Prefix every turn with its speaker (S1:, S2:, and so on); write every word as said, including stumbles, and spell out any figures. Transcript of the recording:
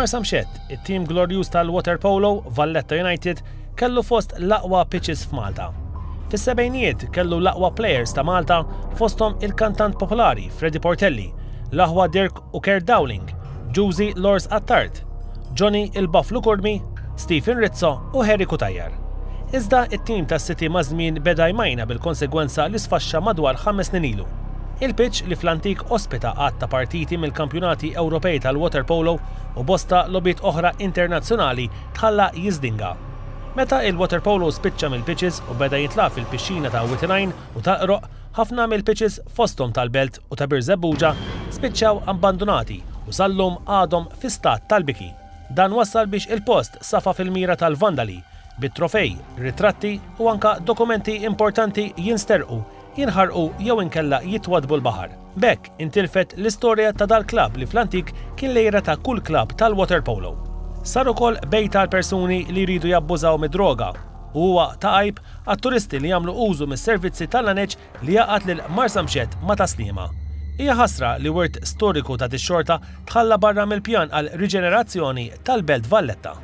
S1: F'Marsamxett, it-tim glorjuż tal-waterpolo, Valletta United, kellu fost l-aqwa pitches f'Malta. Fis-sebgħinijiet kellu l-aqwa players ta' Malta, fosthom il-kantant popolari Freddie Portelli, l-aħwa Dirk u Kurt Dowling, Ġużi Lors Attard, Johnny il-Buffalo Curmi, Stephen Rizzo u Harry Cutajar. Iżda it-tim tas-City maż-żmien beda jmajna, bil-konsegwenza li sfaxxa madwar ħames snin ilu. Il-pitch li fl-antik ospita għadd ta' partiti mill-kampjonati Ewropej tal-waterpolo u bosta logħbiet oħra internazzjonali tħalla jiżdinga. Meta il-waterpolo spiċċa mill-pitches u beda jitlagħab fil-pixxina ta' Wied il-Għajn u tal-Qroqq, ħafna mill-pitches, fosthom tal-Belt u ta' Birżebbuġa, spiċċaw abbandonati u sal-lum għadhom fi stat tal-biki. Dan wassal biex il-post safa fil-mira tal-vandali, bit-trofej, ritratti u anka dokumenti importanti jinsterqu, jinħarqu jew inkella jitwadbu l-baħar. B'hekk intilfet l-istorja ta' dal-klab li fl-antik kien l-għira ta' kull klab tal-waterpolo. Sar ukoll bejta għal persuni li jridu jabbużaw mid-droga u huwa ta' għajb għat-turisti li jagħmlu użu mis-servizzi tal-laneċ li jgħaqqad lil Marsamxett ma' Tas-Sliema. Hija ħasra li wirt storiku ta' dix-xorta tħalla barra mill-pjan għal riġenerazzjoni tal-Belt Valletta.